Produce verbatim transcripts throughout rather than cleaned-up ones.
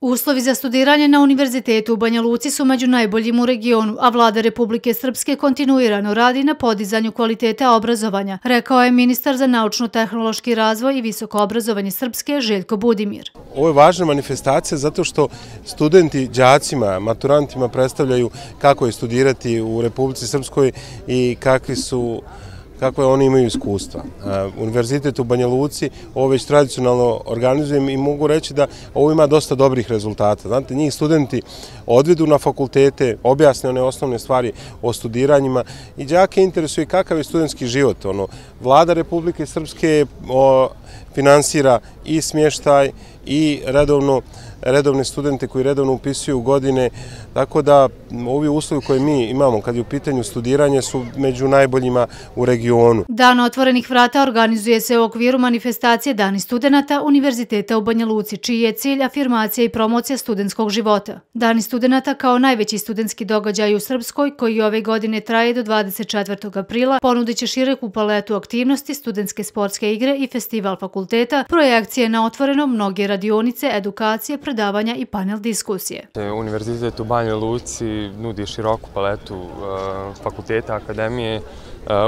Uslovi za studiranje na Univerzitetu u Banja Luci su među najboljim u regionu, a vlada Republike Srpske kontinuirano radi na podizanju kvaliteta obrazovanja, rekao je ministar za naučno-tehnološki razvoj i visoko obrazovanje Srpske Željko Budimir. Ovo je važna manifestacija zato što studenti đacima, maturantima predstavljaju kako je studirati u Republici Srpskoj i kakvi su kakve oni imaju iskustva. Univerzitet u Banja Luci ovo već tradicionalno organizujem i mogu reći da ovo ima dosta dobrih rezultata. Znate, njih studenti odvedu na fakultete, objasne one osnovne stvari o studiranjima i đake interesuje kakav je studentski život. Ono, vlada Republike Srpske finansira i smještaj i redovno redovne studente koji redovno upisuju godine, tako da ovi uslovi koje mi imamo kad je u pitanju studiranje su među najboljima u regionu. Dan otvorenih vrata organizuje se u okviru manifestacije Dani studenata Univerziteta u Banja Luci, čiji je cilj afirmacija i promocija studentskog života. Dani studenata kao najveći studentski događaj u Srpskoj, koji ove godine traje do dvadeset četvrtog aprila, ponudit će široku paletu aktivnosti, studentske sportske igre i festival fakulteta, projekcije na otvorenom, mnoge radionice, edukacije, predavanja i panel diskusije. Univerzitet u Banja Luci nudi široku paletu fakulteta, akademije,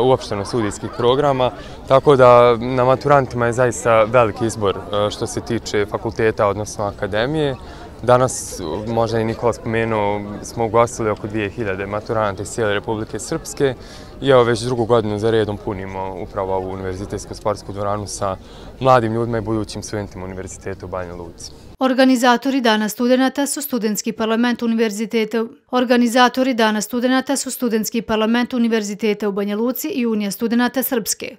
uopšteno studijskih programa, tako da na maturantima je zaista veliki izbor što se tiče fakulteta, odnosno akademije. Danas, možda i Nikola spomenuo, smo ugostili oko dvije hiljade maturanata iz cijele Republike Srpske i evo već drugu godinu za redom punimo upravo ovu univerzitetsku sportsku dvoranu sa mladim ljudima i budućim studentima Univerziteta u Banja Luci. Organizatori Dana studenata su Studentski parlament Univerziteta. Organizatori Dana studenata su Studentski parlament Univerziteta u Banja Luci i Unija studenata Srpske.